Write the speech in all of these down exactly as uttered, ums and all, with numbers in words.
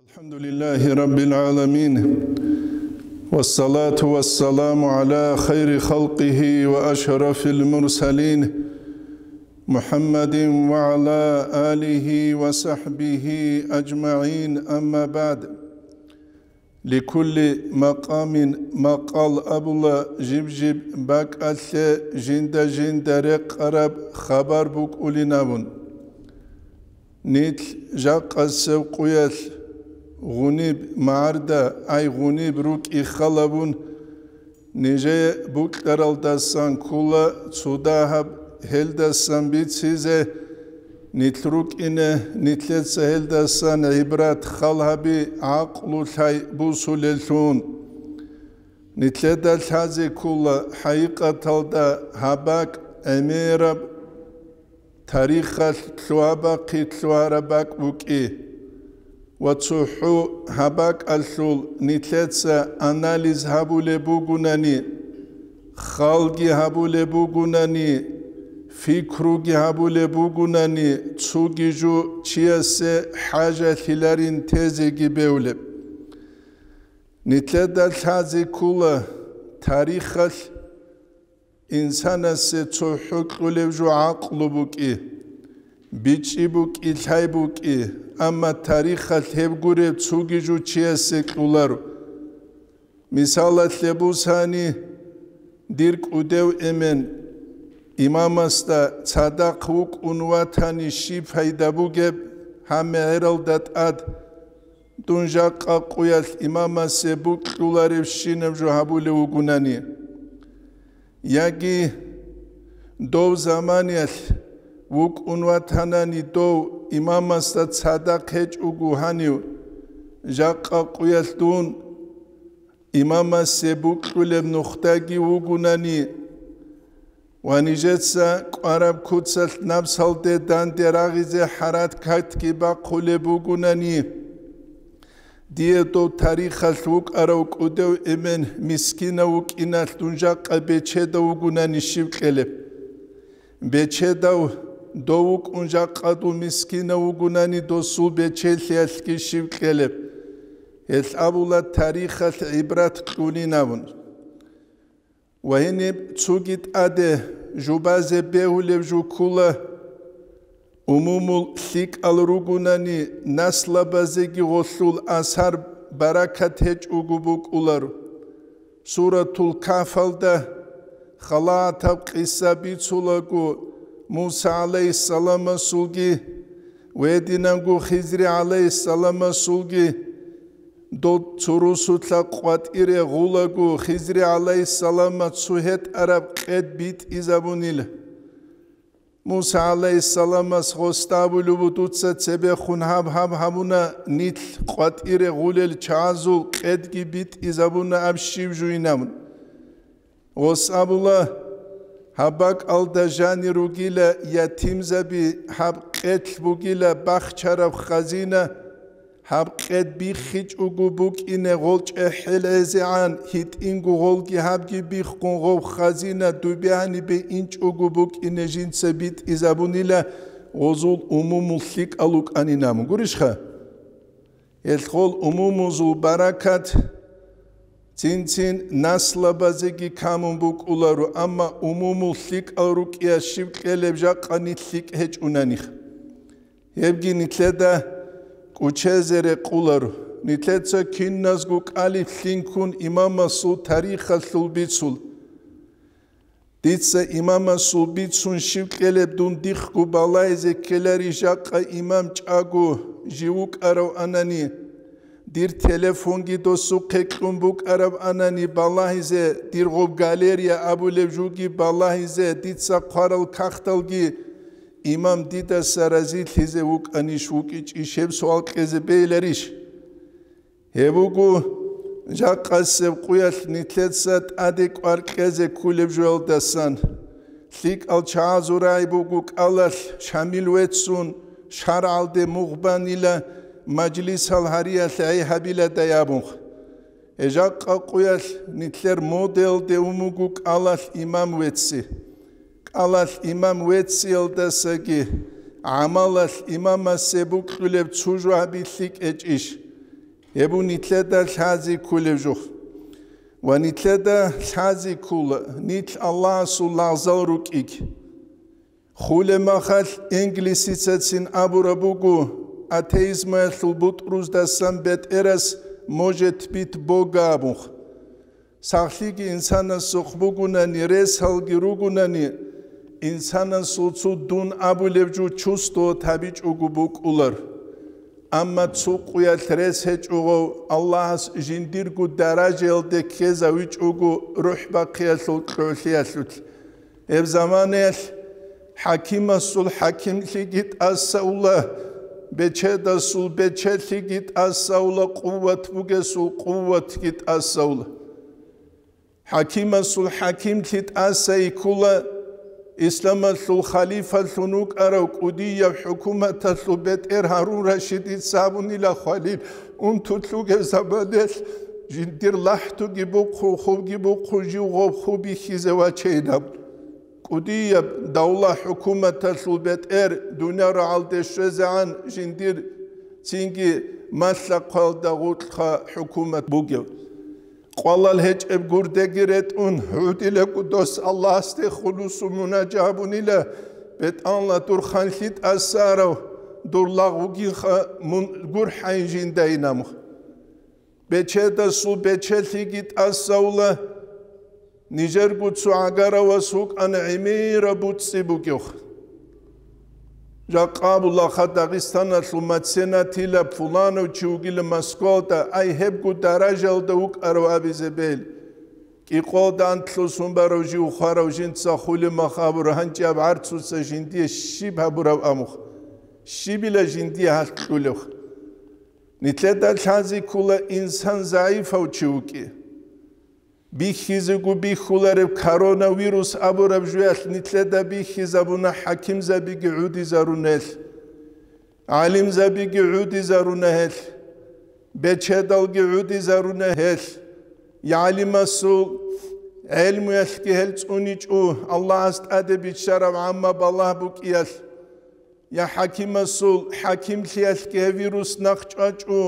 الحمد لله رب العالمين، والصلاة والسلام على خير خلقه وأشرف المرسلين، محمد وعلى آله وصحبه أجمعين، أما بعد. لكل مقام مقال абула, жиб-жиб бакӀалъе жинда-жинда рекъараб хабар букӀулин абун. Нилъ жакъасеб къуялъ гъуниб магӀарда, ай гъуниб рукӀи халабун, нижее букьаралдасан ккола цо дагьаб гьелдасан бицизе, нилъ рукӀине, нилъеца гьелдасан гӀибрат хал гьаби, гӀакълу лъай бусулеллъун. Нилъеда лъазе ккола хӀакъикъаталда гьаб бакӀ гӀемераб, тарихалъ лъугьа-бахъи лъугьараб бакӀ букӀи ва цохӀо гьаб бакӀалъул нилъеца анализ гьабулеб бугунани, халги гьабулеб бугунани, пикруги гьабулеб бугунани, цоги жо чиясе хӀажалъиларин тезеги бевлеб. Нилъеда лъазе ккола тарихалъ инсанасе цохӀо кьолеб жо гӀакълу букӀи, бичӀчӀи букӀи, лъай букӀи, амма тарихалъ гьеб гуреб цоги жо чиясе кьоларо. Мисалалъе бусани, дир кӀудев эмен имамасда цадахъ вукӀун ватани щиб пайда бугеб, гьаб мегӀералда тӀад дун жакъа къуялъ имамасе букьуларевщинаб жо гьабулев вугунани. Яги дов заманиялъ вукӀун ватанани дов имамасда цадахъ гьечӀого гьанив жакъа къуялъ дун имамасе букьулеб нухдаги вугунани ва нижеца кӀвараб куцалъ напсалде данде рагъизе хӀаракатги бахъулеб бугунани, дие дов тарихалъ вукӀарав кӀудев эмен мискинав вукӀиналъ дун жакъа бечедав вугунани щиб кьелеб? Бечедав дов вукӀун жакъа дов мискинав вугунани досул бечелъиялъги щиб кьелеб? Гьелъ абула тарихалъ гӀибрат кьунин абун. Ва гьениб цоги тӀаде жубазе бегьулеб жо ккола, умумул лъикӀал ругунани наслабазеги гъолъул асар баракат гьечӀого букӀулар. Суратул Кафалда халагӀатаб къиса бицулаго, Муса гӀалайгьиссаламасулги ва гьединанго Хизри гӀалайгьиссаламасулги дол цо русулъа къватӀире гъулаго, Хизри гӀалайгьиссаламас цо гьетӀараб къед битӀизабунила. Муса гӀалайгьиссаламас гъосда абулеб буго, дуца цебехун гьаб-гьаб гьабуна, нилъ къватӀире гъулел чагӀазул къедги битӀизабуна аб щиб жуйин абун. Гъос абула, гьаб бакӀалда жанир ругила ятимзаби, гьаб къедлъ бугила бахчараб хазина, гьаб къед биххичӀого букӀине гъол чӀехӀел гӀезегӀан, гьитӀинго гъолги гьабги биххун гъов хазина дубе гьанибе инчӀого букӀине жинца битӀизабунила, гъозул умумул лъикӀал вукӀанин абун. Гурищха? Гьелъ гъол умумузул баракат цин-цин наслабазеги камун букӀуларо, амма умумул лъикӀал рукӀиялъ щиб кьелеб жакъа нилъ лъикӀ гьечӀунанихъ. Гьебги нилъеда кӀучезе рекъуларо. Нилъеца киназго кӀалиблъинккун имамасул тарихалъул бицул. Дица имамасул бицун щиб кьелеб дун дихъго балагьизе ккелари жакъа имам чӀаго жив вукӀарав анани, дир телефонги досухъе кьун букӀараб анани балагьизе, дир гъоб галерия абулеб жуги балагьизе, дица хъварал кагъталги имам дидаса разилъизе вукӀанищ, вукӀичӀищ, гьеб суал кьезе бегьиларищ? Гьеб буго, жакъасеб къуялъ нилъеца тӀаде кӀвар кьезе кколеб жоялдасан. ЛъикӀал чагӀазул рагӀи буго кӀалалъ шамил веццун, шаргӀалде мугъ банила, мажлисал гьариялъ гӀей гьабиладай абунха. Гьеб жакъа къуялъ нилъер моделалде ун буго кӀалалъ имам вецци. КӀалалъ имам вецциялдасаги гӀамалалъ имамасе букьулеб цо жо гьаби лъикӀ гьечӀищ? Гьеб нилъеда лъази кколеб жо. Ва нилъеда лъази ккола, нилъ Аллагьасул лагъзал рукӀиги. Хулеб махалъ инглисицацин абураб буго, атеизмаялъул бутӀруздасан бетӀерас «может быть Бога» абун. Сахлъиги инсанасухъ бугунани, ресалги ругунани, инсанасул цо дун абулеб жо чувствовать гьабичӀого букӀулар. Амма цо къуялъ рес гьечӀого, Аллагьас жиндирго даражаялде ккезавичӀого рухӀ бахъиялъул кьолъиялъулъ. Гьеб заманаялъ хӀакимасул хӀакимлъиги тӀасаула, бечедасул бечелъиги тӀасаула, къуват бугесул къуватги тӀасаула. ХӀакимасул хӀакимлъи тӀаса йиккула, исламалъул халифалъун вукӀарав кӀудияб хӀукуматалъул бетӀер Гьарун Рашидица абунила хвалил унтулъугев заманаялъ жиндир лахӀтуги бухъун, хубги бухъун, жив гъоб ху бихьизе вачейин абун. КӀудияб давла-хӀукуматалъул бетӀер дуниял рагӀалде щвезегӀан жиндир цинги малъа-хъвалда гъоркьха хӀукумат бугев. Къвалал гьечӀеб гурдеги ретӀун, гӀудилаго дос Аллагьасде хулусун мунажа гьабунила, бетӀанла дур ханлъи тӀасарав, дур лагъ вугинха, мун гурхӀайин жинда инамха. Бечедасул бечелъиги тӀасаула, нижерго цо гӀагаравас вукӀана гӀемераб буцӀцӀи бугев. Жакъа абулаха Дагъистаналъул меценатила пуланав чи вугила Москвалда, ай гьебго даражалда вукӀарав абизе бел. КӀикъоялда антлъусан барав жив хварав жинца хулеб мах абура, гьанже аб гӀарцуца жиндие щиб гьабураб амух? Щибила жиндие гьалъ кьулев? Нилъеда лъази ккола инсан загӀипав чи вукӀи. Бихьизего бихьулареб коронавирус абураб жоялъ нилъеда бихьизабуна хӀакимзабиги гӀудизаруна гьелъ, гӀалимзабиги гӀудизаруна гьелъ, бечедалги гӀудизаруна гьелъ, гӀалимасул гӀелмуялъги гьел цӀуничӀо, Аллагьас тӀаде биччараб гӀамма балагь букӀиялъ. Я хӀакимасул хӀакимлъиялъги гьеб вирус нахъ чӀвачӀо,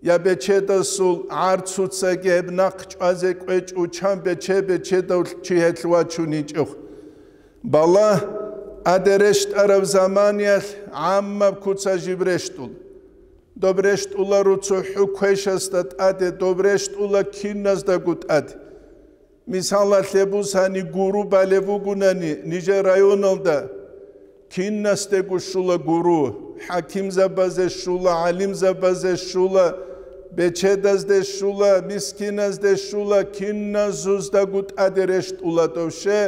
я бечедасул гӀарцуцаги гьеб нахъ чӀвазе кӀвечӀо, чан бече-бечедав чи гьелъ вачуничӀев. Балагь тӀаде рещтӀараб заманиялъ гӀаммаб куца жиб рещтӀула. Доб рещтӀуларо цохӀо квешасда тӀаде, доб рещтӀула киназдаго тӀаде. Мисалалъе бусани, гуру балеб бугунани нижер районалда, кинасдего щула гуру, хӀакимзабазе щула, гӀалимзабазе щула, бечедазде щула, мискиназде щула, киназуздаго тӀаде рещтӀула тӀовше,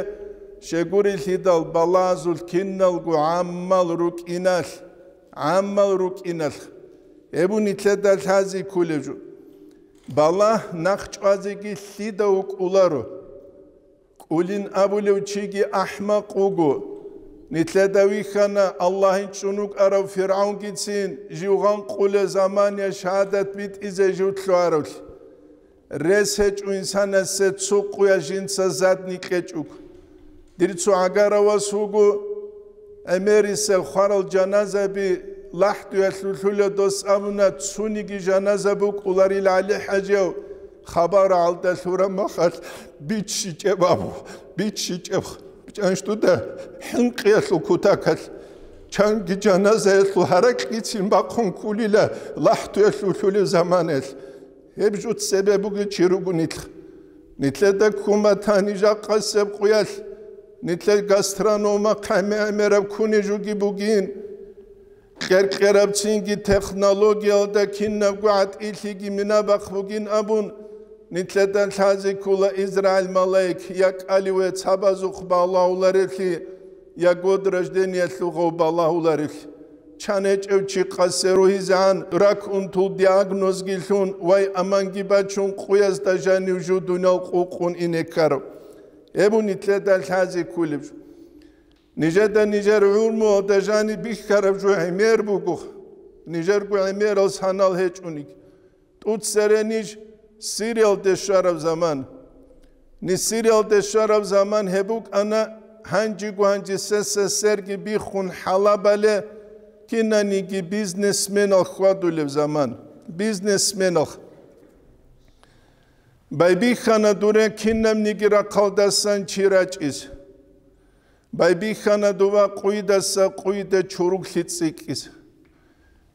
щегурелъидал балазул киналго гӀаммал рукӀиналъ, гӀаммал рукӀиналъ. Гьеб нилъеда лъази кколеб жо. Балагь нахъ чӀвазеги лъида вукӀуларо. КӀулин абулев чиги ахӀмакъ вуго. Нилъеда вихьана Аллагьин чӀун вукӀарав ФиргӀавнгицин жив гъанкъулел замания шагьадат битӀизе жив лъугьаравлъи. Рес гьечӀо инсанасе цо къуя жинца задни кьечӀого. Дир цо гӀагаравас вуго, гӀемерисел хварал жаназаби лахӀдуялъулъула дос абуна, цониги жаназа букӀуларил ГӀали-хӀажияв хабар гӀалда лъураб махалъ биччичӀеб абу, биччичӀеб. ЧӀанчӀуда хӀинкъиялъул кутакалъ чанги жаназаялъул гьаракьицин бахъун ккулила лахӀдуялъулъулеб заманаялъ. Гьеб жуц цебе бугев чи руго нилъ. Нилъеда ккун батани жакъасеб къуялъ, нилъер гастронома хъами-гӀемераб кунежуги бугин, кьер-кьерабцинги технологиялда кинабго гӀатӀилъиги минабахъ бугин абун, нилъеда лъази ккола Израил малаик я кӀаливе цабазухъ балагьуларевлъи, я год рождениялъул гъов балагьуларевлъи. Чан гьечӀев чи къасе ругьизегӀан рак унтул диагнозги лъун, вай аманги бачун, къуязда жанив жо дуниял къукъун ине ккарав. Гьеб нилъеда лъази кколеб жо. Нижеда нижер гӀумруялда жаниб бихьараб жо гӀемер буго, нижерго гӀемерал санал гьечӀониги. ТӀуцере ниж Сириялде щвараб заман. Ниж Сириялде щвараб заман гьеб букӀана, гьанжего гьанже СССР-ги биххун хӀалабале кинаниги бизнесменал хьвадулеб заман. бизнесменалъ. Байбихьана дуре кинабниги рахъалдасан чи рачӀиз. Байбихьана дова къуйдаса къуйда чуруглъи цӀикӀкӀиз.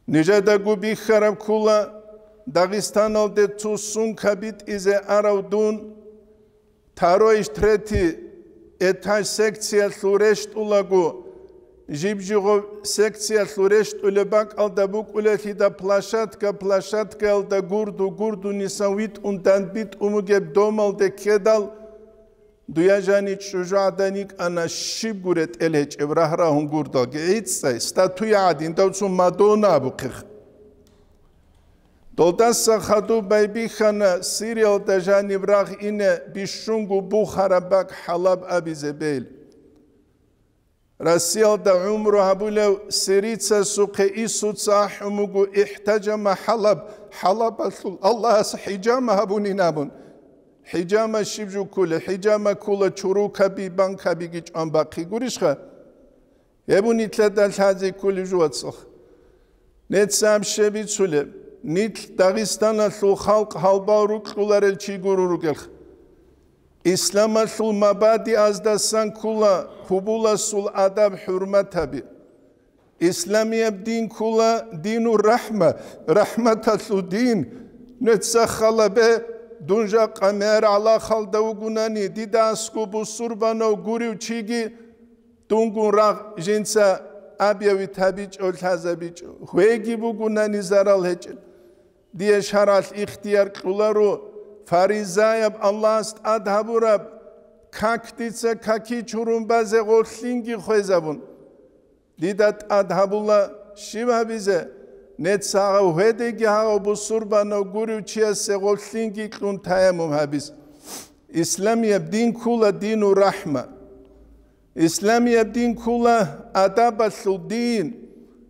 Нижедаго бихьараб ккола Дагъистаналде цо сумка битӀизе арав дун, второй, третий этаж секциялъул рещтӀулаго, жиб-жигъо секциялъул рещтӀулеб бакӀалда букӀулелъида площадка, площадкаялда гурду, гурдунисан витӀун дандбитӀун бугеб домалде ккедал, дуе жани чӀужугӀадан йикӀана щибго ретӀел гьечӀеб рагь-рагьун гурдалги, гӀицӀцӀай, статуя гӀадин, дав цо Мадонна абухъех. Долдаса хадуб байбихьана Сириялда жаниб рагъ ине бищунго бухараб бакӀ ХӀалаб абизе бел. Россиялда гӀумру гьабулев сирицасухъе Исуца ахӀун буго: «Ихтажама ХӀалаб, ХӀалабалъул Аллагьас хӀижама гьабунин», абун. ХӀижама щиб жо кколеб? ХӀижама ккола чурукаби, банкабиги чӀван бахъи гурищха? Гьеб нилъеда лъазе кколеб жо, вацал. Нецааб щиб бицулеб? Нилъ Дагъистаналъул халкъ гьалбал рукьуларел чи гурун ругелха. Исламалъул мабадиаздасан ккола гьубуласул адаб-хӀурматаби. Исламияб дин ккола динур рахӀма, рахӀматалъул дин. Нуца халабе, дун жакъа мер гӀалахалда вугунани, дида аскӀоб бусурбанав гурев чиги, дунгун рагъ жинца объявить гьабичӀо, лъазабичӀо. Гьвеги бугунани зарал гьечӀел. Дие шаргӀалъ ихтияр кьоларо, фаризаяб Аллагьас тӀад гьабураб как дица каки чурун базе гъолъинги хвезабун. Дида тӀад гьабула щиб гьабизе, нецагъав гьедеги гьагъав бусурбанав гурев чиясе гъолъинги кьун таяммум гьабиз. Исламияб дин ккула дину рахӀма. Исламияб дин ккула адабалъул дин.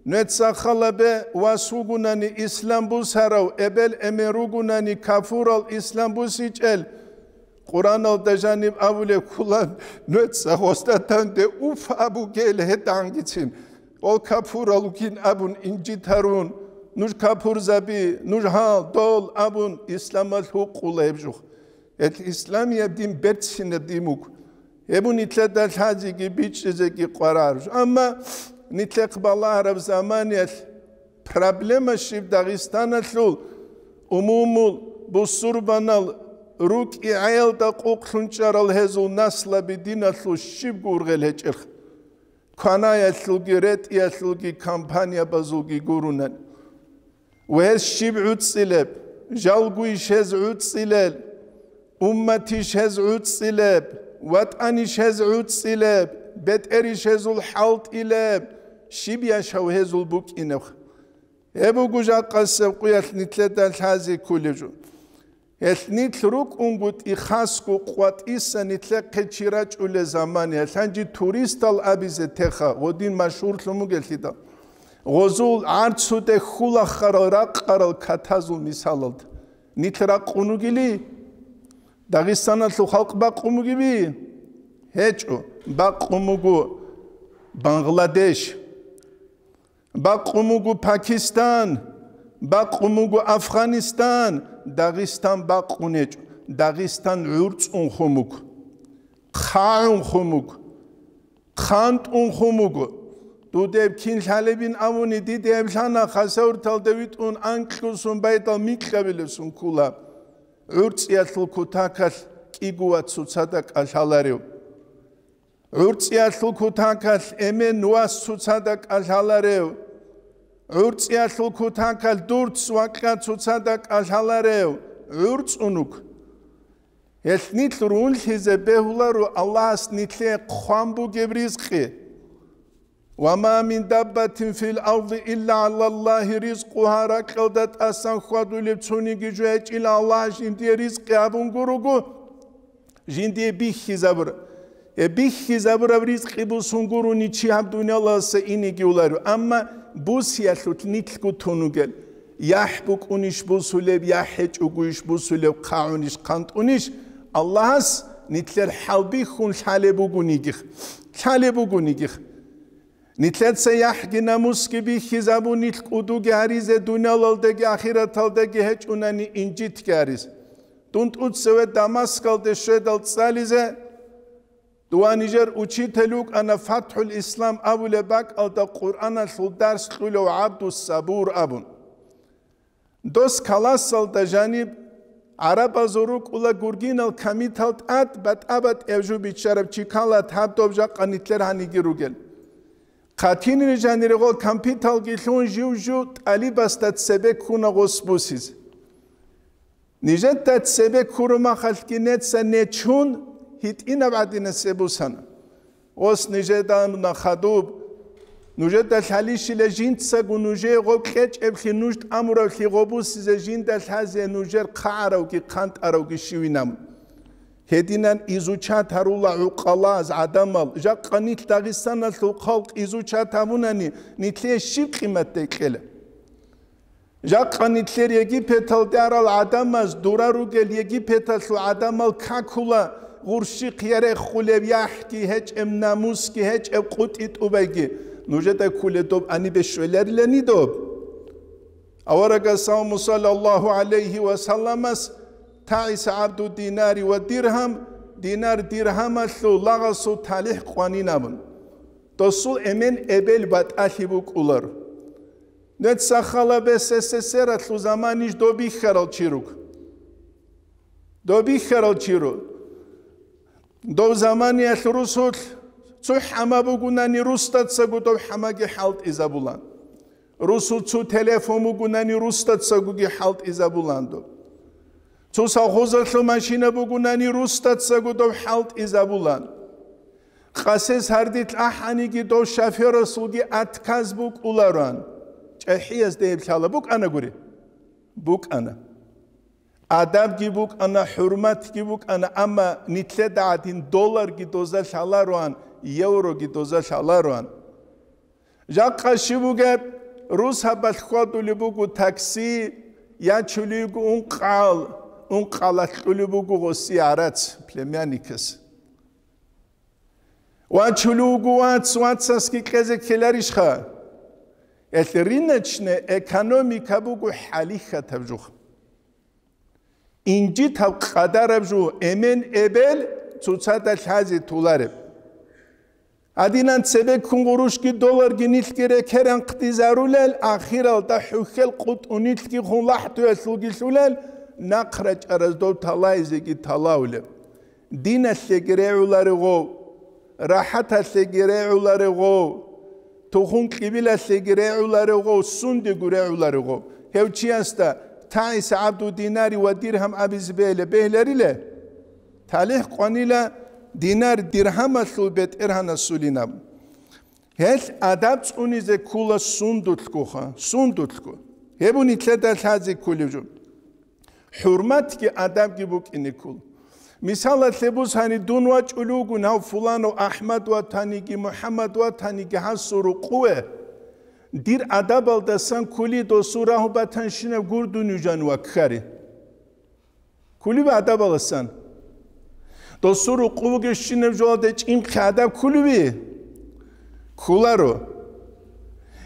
Нуца халабе вас вугунани ислам бусарав, эбел-эмен ругунани кафурал ислам бусичӀел, Къураналда жаниб абулеб ккула, нуца гъосда данде уф абугел гьедангицин, ол кафурал вугин абун инжитарун, нуж кафурзаби, нуж гьал, дол абун, исламалъ гьукъула гьеб жух. Гьел исламияб дин берцинаб дин буго. Гьеб нилъеда лъазеги бичӀчӀизеги къварар. Амма нилъехъ балагьараб заманиялъ проблема щиб Дагъистаналъул умумул бусурбанал рукӀи гӀелда къукълъун чӀарал гьезул наслаби диналъул щибго ургъел гьечӀелха. Кванаялъулги, ретӀиялъулги, компаниябазулги гурунан. Ва гьез щиб гӀуцӀцӀилеб? Жалгуйищ гьез гӀуцӀцӀилел? Умматищ гьез гӀуцӀцӀилеб? ВатӀанищ гьез гӀуцӀцӀилеб? БетӀерищ гьезул хӀалтӀилеб? Щиб яшав гьезул букӀинеб? Гьеб буго жакъасеб къуялъ нилъеда лъазе кколеб жо. Гьелъ нилъ рукӀунгутӀи хасго къватӀиса нилъехъе чи рачӀулел заман, гьелъанчи туристал абизе теха, гъодин машгьурлъун бугелъидал. Гъозул гӀарцуде хьулахъарал ракъарал катазул мисалалда. Нилъ ракъун вугили, Дагъистаналъул халкъ бакъун бугеби? ГьечӀо, бакъун буго Бангладеш. Бакъун буго Пакистан, бакъун буго Афганистан, Дагъистан бакъун гьечӀо. Дагъистан гӀурцӀун хун буго, хъагӀун хун буго, хъантӀун хун буго. Дудеб кин лъалебин абуни, диде гьеб лъана, хасавурталда витӀун анкьусун байдал микьабилесун ккула. ГӀурцӀиялъул кутакалъ кӀиго ва цоцазда кӀалъаларев. ГӀурцӀиялъул кутакалъ эмен вас цоцазда кӀалъаларев, гӀурцӀиялъул кутакалъ дурц вакьа цоцазда кӀалъаларев гӀурцӀун вуго. Гьелъ нилъ рунлъизе бегьуларо Аллагьас нилъее хъван бугеб ризкъи. «Ва ма мин даббатин фил арди илла гӀалаллагьи ризкъугьа», ракьалда тӀасан хьвадулеб цониги жо гьечӀила Аллагь жиндие ризкъи абун гуруго. Жиндие бихьизабур-, э, бихьизабураб ризкъи бусун гурони чи гьаб дуниялаласа инеги уларо. Амма бусиялъулъ нилъго тун вугел, яхӀ букӀунищ бусулеб, яхӀ гьечӀогойищ бусулеб, хъагӀунищ хъантӀунищ, Аллагьас нилъер хӀалбихьун лъалеб бугонигих. Лъалеб бугонигих. Нилъеца яхӀги намусги бихьизабун, нилъ кӀудуги гьаризе, дуниялалдаги ахираталдаги гьечӀунани инжитги гьариз. Дун тӀуцеве Дамаскалде щведал цӀализе, дова нижер учитель вукӀана ФатхӀул Ислам абулеб бакӀалда Къуръаналъул дарс кьулев ГӀабдус Сабур абун. Дос каласалда жаниб гӀарабазул рукӀула гургинал камитал тӀад батӀа-батӀияб жо биччараб чи ккола, гьаб доб жакъа нилъер гьаниги ругел. Хъатинир жанире гъол кампиталги лъун жив-жив тӀалибасда цебе ккуна гъос бусизе. Нижеда цебе ккуру махалъги неца нечун гьитӀинаб гӀадинасеб бусана. Ос нижеда нахадуб, нужеда лъалищила жинцаго нужее гъоб кьечӀеблъи нуж тӀамуравлъи гъобусизе жинда лъазе нужер хъагӀаравги хъантӀаравги щивинаб. Гьединан изучат гьарула гӀукъалаз гӀадамал, жакъа нилъ Дагъистаналъул халкъ изучат гьабунани, нилъее щиб къиматдай кьела? Жакъа нилъер Египеталде арал гӀадамаз дура ругел Египеталъул гӀадамал какула, гъурщихъ ярехъулеб яхӀги гьечӀеб, намусги гьечӀеб, къутӀи-тӀубайги. Нужеда кколеб доб гьанибе щвеларилани доб? Аварагас, саллаллагьу гӀалайгьи ва салламас, тагӀиса гӀабду динари ва диргьам, динар-диргьамалъул лагъасул талихӀ къванин абун. Досул эмен эбел батӀалъи букӀулар. Нецахъала СССР-алъул заманищ доб бихьарал чи руго. Доб бихьарал чи руго. Дов заманиялъ русулъ цо хӀама бугунани, русдацаго дов хӀамаги хӀалтӀизабулан. Русул цо телефон бугунани, русдацагоги хӀалтӀизабулан дов. Цо совхозалъул машина бугунани, русдацаго дов хӀалтӀизабулан. Къасес гьардилъ ахӀаниги, дов шофёрасулги отказ букӀуларан. ЧӀахӀиясда гьеб лъала букӀана гури? БукӀана. Адабги букӀана, хӀурматги букӀана, амма нилъеда гӀадин долларги доза лъалароан, евроги доза лъалароан. Жакъа щиб бугеб, рус гьабалъ хьвадулеб буго такси, ячулев йиго ункъал, ункъалалъ кьулеб буго гъосие гӀарац, племянникас. Вачулев вуго вац, вацасги кьезе ккеларищха? Гьелъ рыночная экономика буго хӀалихьатаб жо. Инжитаб къадараб жо, эмен эбел цоцазда лъазе толареб. Гьадинан цебеккун гъурущги долларги нилъги рекеран хъдизарулел, ахиралда хӀухьел къутӀун нилъги хун лахӀдуялъулги лъулел, нахъ рачӀараз дов талайзеги талавулеб. Диналъеги регӀуларев гъов, рахӀаталъеги регӀуларев гъов, тухум-кьибилалъеги регӀуларев гъов, сундего регӀуларев гъов. Гьев чиясда тагӀиса гӀабду динари ва диргьам абизе бегьилеб бегьилариле? ТалихӀ къванила динар-диргьамалъул бетӀергьанасулин абун. Гьелъ адаб цӀунизе ккула сундулъгоха, сундулъго. Гьеб нилъеда лъазе кколеб жо. ХӀурматги адабги букӀине ккола. Мисалалъе бусани, дун вачӀулев вугин гьав фуланав АхӀмад ватаниги, МухӀаммад ватаниги гьасул рукъуве, дир адабалдасан кколи досул рагьу батанщинаб гурдун южан ваккари. Кколеб адабаласан? Досул рукъу бугебщинаб жоялде чӀинхъи адаб кколеби? Кколаро.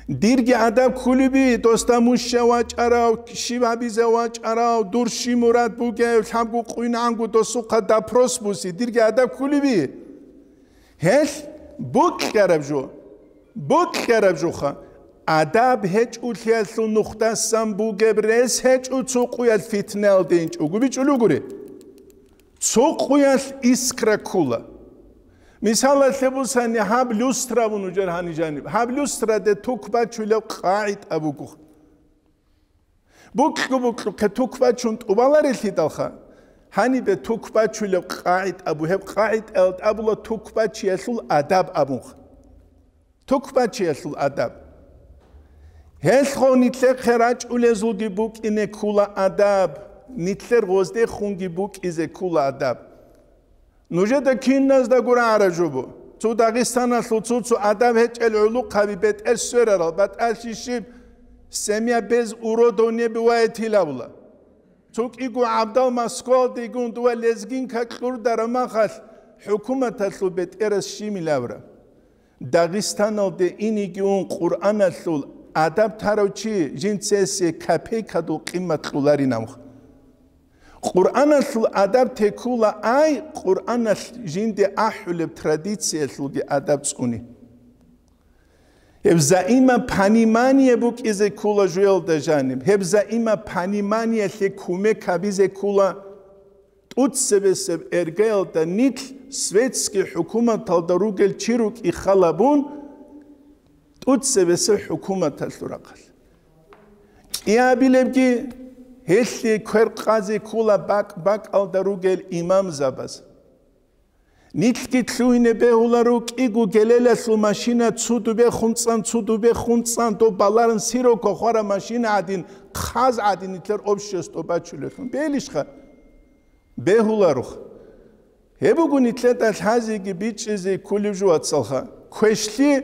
Дирги адаб кколеби, досда муща вачӀарав, щиб гьабизе вачӀарав, дур щиб мурад бугев, лъабго къуйнагӀанго досухъа допрос буси, дирги адаб кколеби? Гьелъ букьараб жо, букьараб жоха, адаб гьечӀолъиялъул нухдасан бугеб рес гьечӀо, цо къуялъ фитналде инчӀого бичӀчӀулев гури. Цо къуялъ искра ккула. Мисалалъе бусани, гьаб люстра абун вугев гьаниб жаниб. Гьаб люстраде ток бачулеб къагӀида буго. Букьу-букьухъе ток бачун тӀубаларелъидалха, гьанибе ток бачулеб къагӀида абу, гьеб къагӀидаялда абула ток бачиялъул адаб абунха. Ток бачиялъул адаб. Гьелъго нилъехъе рачӀулезулги букӀине ккула адаб, нилъер гъоздехунги букӀизе ккула адаб. Нужеда киназдаго рагӀараб жо буго. Цо Дагъистаналъул цо-цо адаб гьечӀел гӀулухъаби бетӀер сверарал, батӀалъи щиб, семья без уродов не бывает гьилавла. Цо кӀиго гӀабдал Москвалдегун дова лезгинка кьурдараб махалъ, хӀукуматалъул бетӀерас щиб илавра. Дагъистаналде инеги ун Къуръаналъул адаб тарав чи жинцасе копейкадул къимат кьоларин абун. Къуръаналъул адаб текула ай, Къуръаналъ жинде ахӀулеб традициялъулги адаб цӀуни. Гьеб заима понимание букӀизе ккола жуялда жаниб. Гьеб заима пониманиялъе кумек гьабизе ккола. ТӀуцебесеб эргаялда нилъ светский хӀукуматалда ругел чи рукӀин хал гьабун, тӀуцебесеб хӀукуматалъул рахъалъ. КӀиабилебги гьелъие квер къазе ккола бакӀ-бакӀалда ругел имамзабаз. Нилъги лъугьине бегьуларо кӀиго гелелалъул машина цо дубе хунцӀан, цо дубе хунцӀан, доб баларан сиро кохвара машина гӀадин, хъаз гӀадин нилъер общество бачулелъун. Белищха? Бегьуларух. Гьеб буго нилъеда лъазеги бичӀчӀизе кколеб жо, вацалха. Квешлъи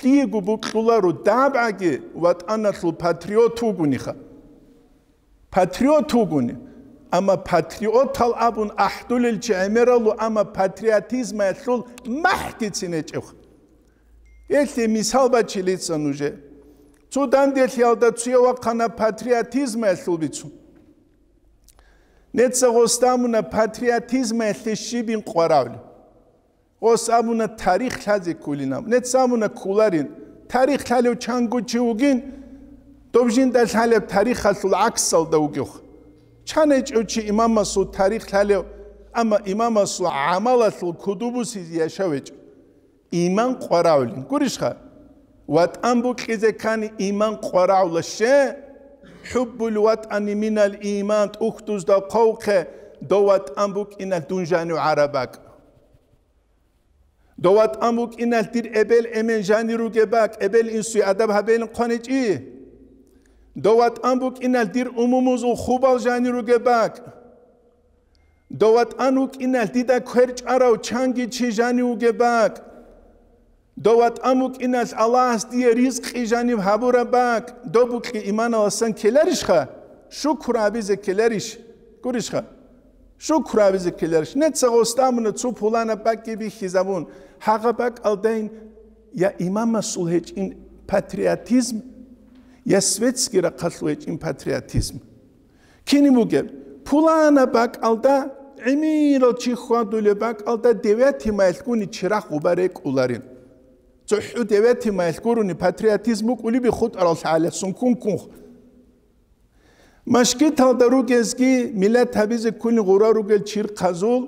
лъиего букьуларо, дабгӀаги ватӀаналъул патриот вугониха. Патриот вугони. Амма патриотал абун ахӀдулел чи гӀемералу, амма патриотизмаялъул махӀгицин гьечӀев. Гьелъие мисал бачилица нужее. Цо данделъиялда цуе вахъана патриотизмаялъул бицун. Неца гъосда абуна патриотизмаялъе щибин къваравли. Гъос абуна тарих лъазе кколин абун. Неца абуна кколарин. Тарих лъалев чанго чи вугин, доб жинда лъалеб тарихалъул гӀаксалда вугев. Чан гьечӀев чи имамасул тарих лъалев, амма имамасул гӀамалалъул куду бусизе яшав гьечӀев. Иман къваравлин. Гурищха? ВатӀан букьизе ккани иман къваравла ще, хӀуббул ватӀани минал иман, тӀухьдузда хъвавухъе, дов ватӀан букӀиналъ дун жанив гӀараб бакӀ. Дов ватӀан букӀиналъ дир эбел-эмен жанир ругеб бакӀ, эбел-инсуе адаб гьабейилан хъваничӀи. Дов ватӀан букӀиналъ дир умумузул хубал жанир ругеб бакӀ. Дов ватӀан вукӀиналъ дида квер чӀварав чанги чи жанив вугеб бакӀ. Дов ватӀан вукӀиналъ Аллагьас дие ризкъи жанив гьабураб бакӀ. Доб букьи иманаласан ккеларищха? Шукр гьабизе ккеларищ? Гурищха? Шукр гьабизе ккеларищ? Неца гъосда абуна цо пуланаб бакӀги бихьизабун, гьагъа бакӀалдайин я имамасул гьечӀин патриотизм, я светский рахъалъул гьечӀин патриотизм. Кини бугеб, пулана бакӀалда гӀемерал чи хьвадулеб бакӀалда девятый маялъгуни чирахъ гъуба рекӀуларин. ЦохӀу девятый маялъ гурони патриотизм букӀулеби хутӀарал лъагӀаласун ккун-ккун. Машгиталда ругезги миллат гьабизе ккунин гъура ругел чирхъазул,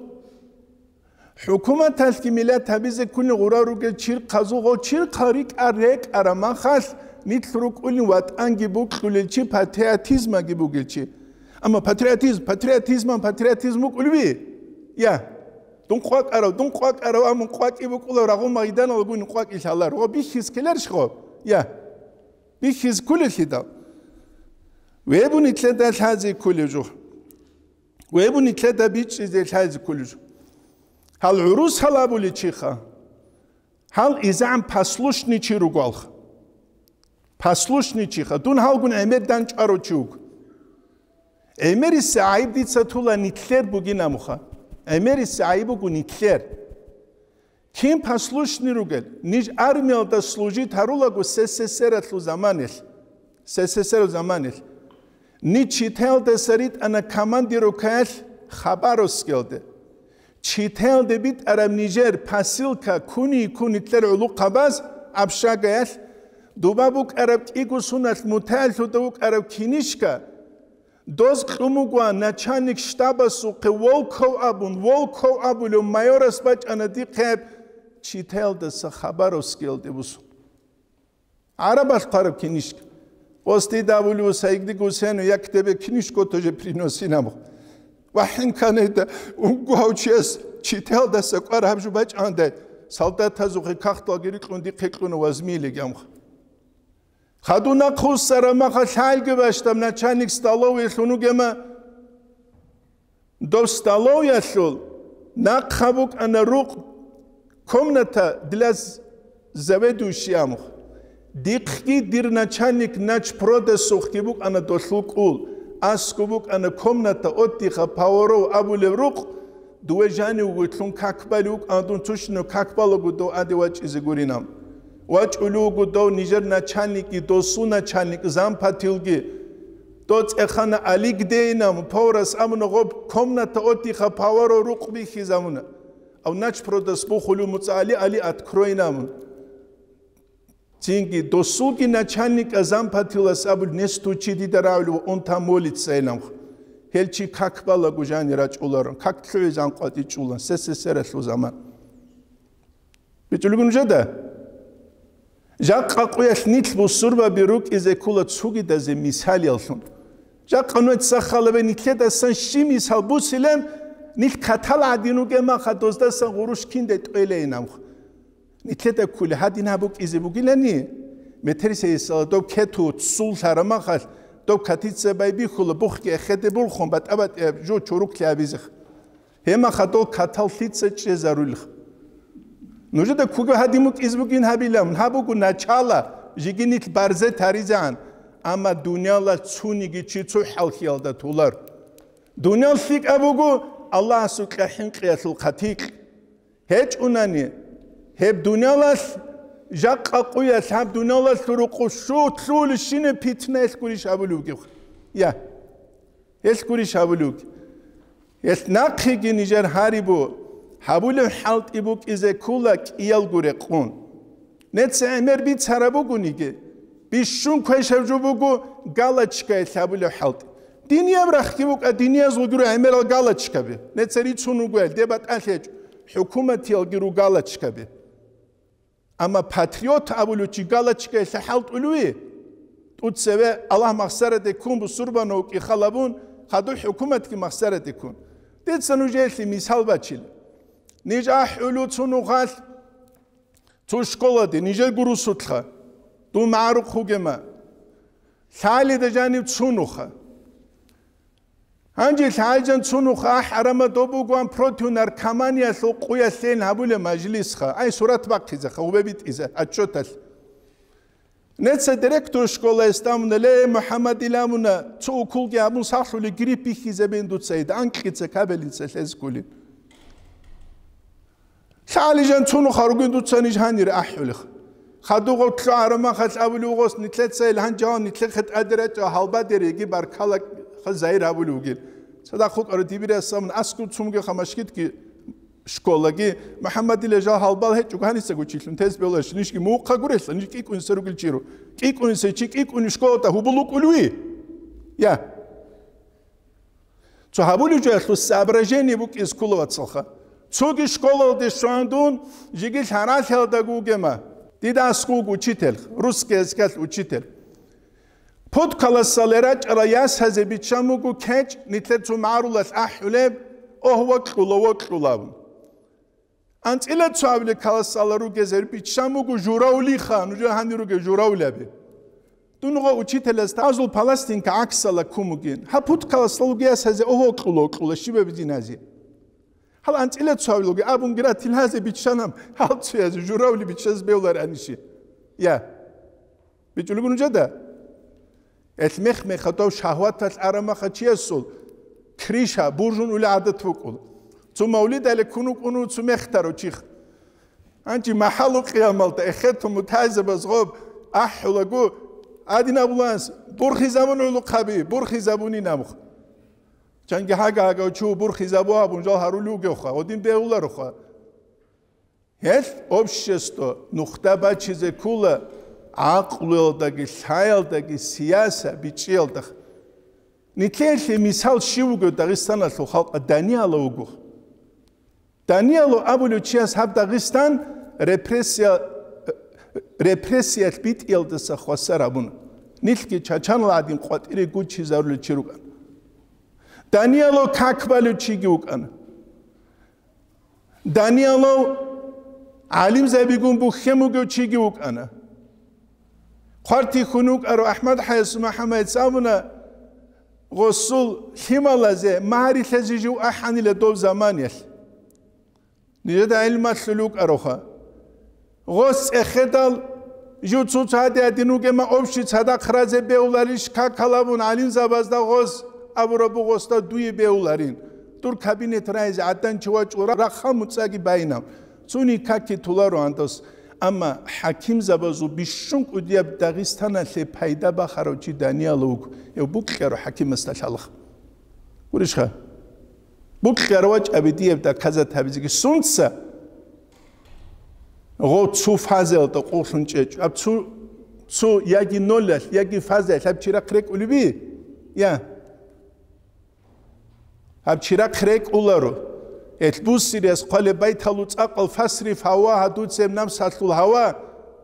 ХӀукуматалъги миллат гьабизе ккунин гъура ругел чирхъазул гъо чирхъал рикӀар рекӀараб махалъ, нилъ рукӀулин ватӀанги букьулел чи, патриотизмаги бугел чи. Амма патриотизм, патриотизман патриотизм букӀулеби? Я. Дун къвакӀарав, дун къвакӀарав, амма къвакӀи букӀулав рагъул майданалгун къвакӀи лъалар. Гъо бихьиз ккеларищ гъо? Я. Бихьиз кколелъидал. Вебу нилъеда лъазе кколев жо. Вебу нилъеда бичӀчӀизе лъазе кколев жо. Гьал гӀурус гьал абулей чиха. Гьал изегӀан послушный чи ругоалха. Послушный чиха. Дун гьалгун гӀемер данчӀварав чи вуго. ГӀемериса гӀайиб дица тула нилъер бугин амуха. ГӀемериса гӀайиб буго нилъер. Кин послушный ругел, ниж армиялда служить гьарулаго СССР-алъул заманилъ, СССР-алъул заманилъ, ниж Читаялдаса ритӀана командировкаялъ Хабаровскиялде. Читаялде битӀараб нижер посылка ккуни-ккун нилъер гӀулухъабаз общагаялъ, дуба букӀараб кӀиго суналъ мутаялъуда вукӀараб кинишка, доз кьун буго начальник штабасухъе Волков абун, Волков абулев майорас бачӀана дихъе Читаялдаса Хабаровскиялде бусун. ГӀарабалъ хъвараб кинишка. Къосдида абулев Сайгдиго Гусейну, я к тебе книжку тоже приносил. Ва хӀинканайда, унго гьав чияс Читаялдаса кӀвар гьаб жо бачӀандай, солдатазухъе кахталги рикьун дихъе кьуна вазмилигамха. Хадуна хъусара маха лъалги бащдаб начальник столовыйлъун вугема, дов столовыялъул нахъа букӀана рукъ, комната для з-, заведующий амух. Дихъги дир начальник начпродасухъги букӀана долъул кӀул, асгу букӀана комната отдыха поваров абулев рукъ, дуве жанив вуготлъун как балев вукӀана дун тушнав как балагу дов аде вачӀизе гуринав. ВачӀулев вуго дов нижер начальникги, досул начальник, зампотелги. Дов цӀехана Олег Дейнам, поварас абуна, гъоб комната отдыха поваров рукъ бихьизабуна. Ав начпродас бухулев муцӀа Али, Али откройнавун. Цинги досулги начальника зампотелас абулеб, несту чи дида рагӀулев, он там молится эламха. Гьел чи как балаго жани рачӀуларун, как лъугӀизан къватӀичӀулан, СССР-алъул заман. БичӀулеб нужеда? Жакъа къуялъ нилъ бусурбаби рукӀизе ккола цогидазе мисалияллъун. Жакъа нугьеца халабе нилъедасан щиб мисал бусилан, нилъ катал гӀадин ругеб маха доздасан гъурущ кинде тӀвелейин абха. Нилъеда кколи гьадин гьаб букӀизе бугилани, метерисейисала доб кету цул лъарамахалъ, доб катица байбихьула, бухги эхеде булхун, батӀа-батӀияб жо чуруклъи абизех. Гьемаха дол катал лъица чӀезарулех. Нужеда ккуго гьадин букӀизе бугин гьабилан, гьаб буго начала, жиги нилъ барзе таризегӀан, амма дунияла цуниги чи цо хӀалхьиялда тулар. Дуниял лъикӀаб буго Аллагьасул кьахӀинкъиялъул хъатикь. ГьечӀунани, гьеб дуниялалъ, жакъа къуялъ гьаб дуниялалъул рукъу щутлъулищинаб питна гьелъ гурищ абулев вугев? Я, гьелъ гурищ абулев вугев? Гьелъ нахъеги нижер гьарибу, гьабулев хӀалтӀи букӀизе ккола кӀиялго рекъон. Неца гӀемер бицараб бугониги, бищун квешаб жо буго галочкаялъ гьабулеб хӀалтӀи. Динияб рахъги букӀа, диниязулги руго гӀемерал галочкаби. Неца рицун ругоял, деб батӀалъ гьечӀо, хӀукуматиялги руго галочкаби. Амма патриот абулев чи галочкаялъ хӀалтӀулев? ТӀуцеве Аллагь махсараде ккун бусурбанав вукӀи халабун, хадуб хӀукуматги махсараде ккун. Дица нужеялъе мисал бачила. Ниж ахӀулев цо нухалъ, цо школаде, нижерго русулъха, дун магӀарухъ вугема, лъалида жанив цо нуха. Гьанже лъалижан цо нуха ахӀарама доб бугоан против наркоманиялъул къуялъейин гьабулеб мажлисха, ай сурат бахъизеха, гъубе битӀизе, отчеталъ. Неца директор школаялъ абуна, ле, МухӀаммад, иламуна, цо уколги гьабун сахлъули грипп бихьизабин дуца, ида анкьица кабелица лъезгулин. ЛъагӀалижан цо нуха ругин дуца ниж гьанир ахӀулех. Хадугъав лъугӀарамахалъ абулев гъос нилъеца ил гьанжаван нилъехъе тӀадирачӀа гьалбадериги баркала загьир гьабулев вугил. Цадахъ вукӀарав дибирасамун аскӀов цумгеха машгитги школаги, МухӀаммадила жал гьалбал гьечӀого гьаниса гучилъун тез бевларищ, нижги мухъа гурелъа, ниж кӀикӀунса ругел чиро. КӀикӀунса чи кӀикӀуни школата гьубул вукӀулви? Я. Цо гьабулев жоялъул соображение букӀиз ккола, вацалха. Цоги школалде щван дун, жиги лъаралъиялдаго вугема. Дида аскӀов вуго учитель, русский языкалъ учитель. Пуд каласале рачӀарал ясазе биччан буго кечӀ, нилъер цо магӀарулалъ ахӀулеб, огь, вокьула, вокьула абун. АнцӀила цо абилеб каласала ругезер биччан буго журавлиха, нужер гьанир ругел журавлаби. Дун гъо учителяс тазул паластинка гӀаксала ккун бугин. Гьаб пуд каласала ругеяс гьазе, огь, окьула, окьула, щибаби дин гьазе. Гьал анцӀила цо абилуги абунги ратил гьазе биччанам, гьал цоязе журавли биччаз бевлар анищи. Я. БичӀулеб нужеда? Элъ мех-мехалъ дов шагьваталъ арамаха чиясул криша буржун ули гӀадат букӀула. Цо мавлидале ккун вукӀуна цо мехтарав чих. Гьанчи махӀалу къиямалда эхетун мутагӀилзабаз гъоб ахӀулаго, гьадин абуланс, бурхизабун гӀулухъаби, бурхизабунин абуха. Чанги гьага-гьагав чу бурхизабу абун жал гьарулев вугевха, гъодин бегьулароха. Гьелъ общество нухда бачизе ккола гӀакълуялдаги, лъаялдаги, сияса бичӀчӀиялда. Нилъеялъе мисал щив вуго Дагъистаналъул халкъа? Даниялов вуго. Даниялов абулев чияс гьаб Дагъистан репрессия, репрессиялъ битӀиялдаса хвасар гьабуна. Нилъги чачанал гӀадин къватӀире гуччизарулев чи рукӀана. Даниялов как балев чиги вукӀана. Даниялов гӀалимзабигун бухьен бугев чиги вукӀана. Хъвартихьун вукӀарав АхӀмад-ХӀаяс МухӀаммадица абуна, гъосул лъималазе магьарилъазе жив ахӀанила дов заманиялъ. Нижеда гӀилмалъул вукӀароха. Гъос цӀехедал, жив цо цаде гьадин вугема общий цадахъ разе бегьуларищ, какал абун гӀалимзабазда гъос абураб бугъосда дуе бегьуларин. Дур кабинет райзе гӀадан чи вачӀун ра-, рахъа муцӀаги байинаб. Цуни каки туларо гьандос. Амма хӀакимзабазул бищун кӀудияб Дагъистаналъе пайда бахарав чи Данияла вуго, гьев букьарав хӀакимасда лъалаха. Гурищха? Букьарав вачӀаби дияб доказать гьабизеги сунца? Гъо цу фазаялда къуллъун чӀечӀо. Аб цу, цу яги нолалъ, яги фазаялъ гьаб чирахъ рекӀулеби? Я. Гьаб чирахъ рекӀуларо. Гьелъ буссириялъ хъвалеб байталъул цӀакъал: «Фасриф гьавагьа», дуцеб намсалъул гьава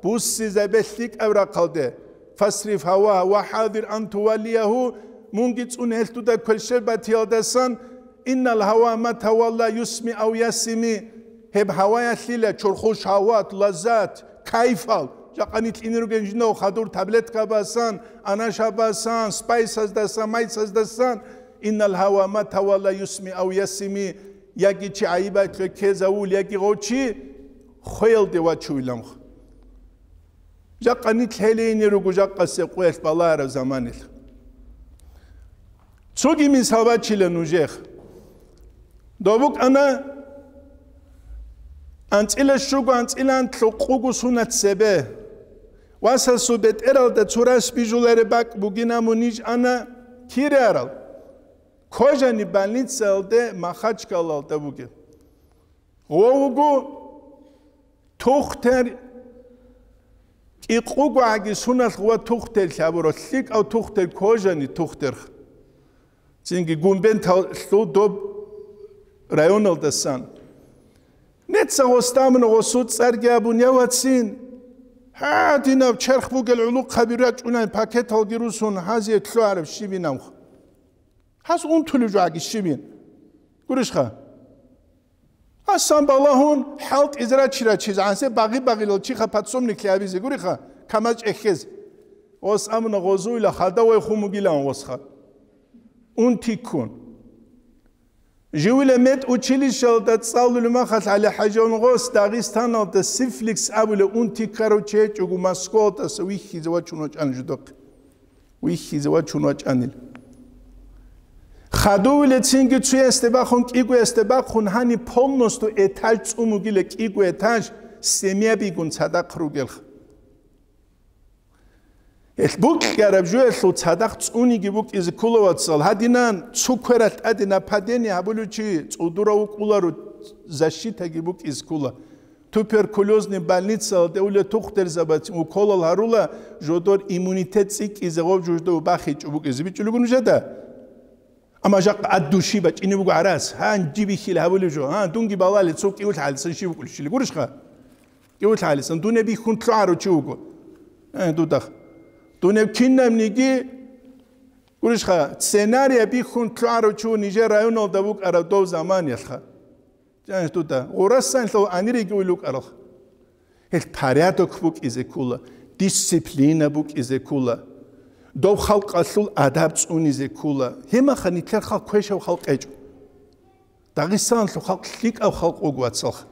буссизабе лъикӀаб рахъалде. «Фасриф гьавагьа ва хӀазир ан туваллиягьу», мунги цӀун гьелъ дуда кверщел батиялдасан, «Иннал гьава ма тавалла юсми ав ясими», гьеб гьаваялъила чорхол шагьват, лаззат, кайфал, жакъа нилъ ине ругел жинав хадур таблетка басан, анаша басан, спайсаздасан, майсаздасан, «Иннал гьава ма тавалла юсми ав ясими», яги чи гӀайибатлъе ккезавул, яги гъов чи хвеялде вачувиланха. Жакъа нилъ гьелейине руго жакъасе къоялъ балагьараб заманилъ. Цоги мисал бачила нужех. Дов букӀана анцӀила щуго, анцӀила анлъго къуго сунат цебе. Васасул бетӀералда цо рас бижулареб бакӀ бугин, амма ниж ана кире арал. Кожани больницаялде Махачкалалда бугеб. Гъов вуго тухтер, кӀикъуго гӀаги суналъ ва тухтер лъабурав, лъикӀав тухтер, кожани тухтер. Цинги Гумбенталъул доб районалдасан. Неца гъосда амуна гъосул цӀарги абун: «Я, вацин, гьадинаб черх бугел гӀулухъаби рачӀунай пакеталги русун, гьазие лъугӀараб щибинаб?» Гьас унтулев жо гӀаги щибин. Гурищха? Асан балагьун, хӀалтӀизе рачи-рачизе гӀансе багъи-багъилал чиха подсобниклъи гьабизе гуриха, камаз чӀехьезе. Гъос амуна гъозуила хадавай хун бугилан гъосха. Унти ккун. Живила медучилищалда цӀалулев махалъ ГӀали-ХӀаживан гъос Дагъистаналда сифликс абулев унти ккарав чи гьечӀого, Москвалдаса вихьизе вачун вачӀана жудахъе. Вихьизе вачун вачӀанил. Хадувилецинги цуясде бахун, кӀигоясде бахун, гьаниб полностью этаж цӀун вугила, кӀиго этаж семьябигун цадахъ ругелха. Гьелъ букьараб жуялъул цадахъ цӀуниги букӀизе ккола, вацал. Гьадинан цо квералъ тӀаде нападение гьабулев чи цӀудурав вукӀуларо, защитаги букӀизе ккола. Туберкулезный больницалде уле тухтурзабацин уколал гьарула, жодор иммунитет цӀикӀкӀизе гъов жужда бахичӀо букӀизе бичӀчӀулего нужеда. Амма жакъа ад души бачӀине буго гӀарас, гьанжи бихьил гьабулев жо, гьан, дунги балали цо кӀиулъ гьалисан щив вукӀулищили гурищха? КӀиулъ гьалисан, дунеб бихьун лъугӀарав чи вуго. Э, дудах. Дунеб кинабниги, гурищха, сценария бихьун лъугӀарав чи ву нижер районалда вукӀарав дов заманиялъха. Жаниш дуда, гъурасан лъав анириги уйлукӀарал. Гьел порядок букӀизе ккола, дисциплина букӀизе ккола. Дов халкъалъул адаб цӀунизе ккола. Гьемаха нилъер халкъ квешав халкъ гьечӀо. Дагъистаналъул халкъ лъикӀав халкъ вуго, вацалха.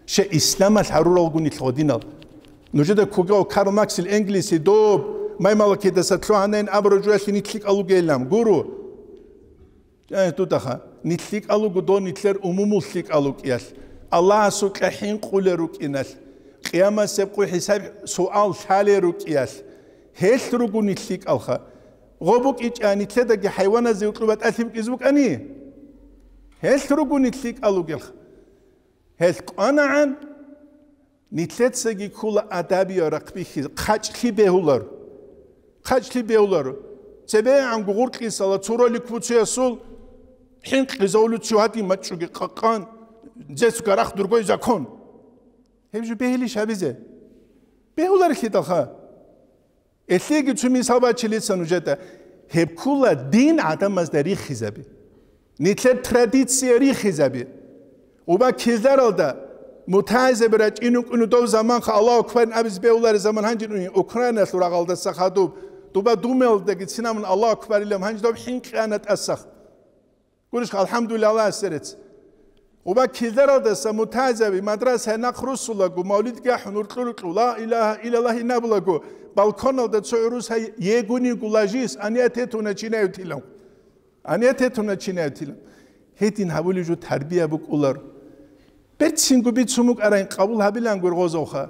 Щай исламалъ гьаруралгун нилъ гъодинал. Нужеда ккогав Карл Максил Энгельси доб маймалакидаса лъугьанайин абураб жоялъе нилъ лъикӀал вугейилан. Гуру. Э, дудагьа, нилъ лъикӀал вуго дов нилъер умумул лъикӀал вукӀиялъ, Аллагьасукьа хӀинкъулел рукӀиналъ, къиямасеб къо хӀисаб-суал лъалел рукӀиялъ, гьелъ руго нилъ лъикӀалха. Гъо букӀичӀа нилъедаги хӀайваназе укьуба тӀалъи букӀизе букӀани? Гьелъ руго нилъ лъикӀал вугелха. Гьелъ къванагӀан, нилъецаги ккола адабиял рахъ бихьизе, хъачӀлъи бегьуларо. ХъачӀлъи бегьуларо. ЦебегӀанго гъуркьисала цо ролик буцеясул хӀинкъизавулев чи гьадин мачӀуги къакъан, здесь в горах другой закон. Гьеб жо бегьилищ гьабизе? Бегьуларелъидалха. Элъиги цо мисал бачилица нужеда. Гьеб ккола дин гӀадамазда рихизаби. Нилъер традиция рихизаби. Уба кизаралда мутагӀизаби рачӀинукӀуну дов заманха Аллагьу акбарин абиз бегьулари заман гьанжин уни Украиналъул рагъалдаса хадуб. Дуба думелдаги цинамун Аллагьу акбарилан гьанж доб хӀинкъи ана тӀасах. Гурищха, алхӀамдулиллагь, Аллагьасе рецц. Уба кизаралдаса мутагӀизаби мадрасаялъ нахъ руссулаго, мавлидги ахӀун уркьу-рукьу, ла илагьа иллаллагь инабулаго, балконалда цо гӀурус гьай егуниго лажис, аният гьетуна чинаявтилан. Аният гьетуна чинаявтилан. Гьедин гьабулеб жо тарбия букӀулар. Берцинго бицун букӀарайн къабул гьабилан гургъозавха.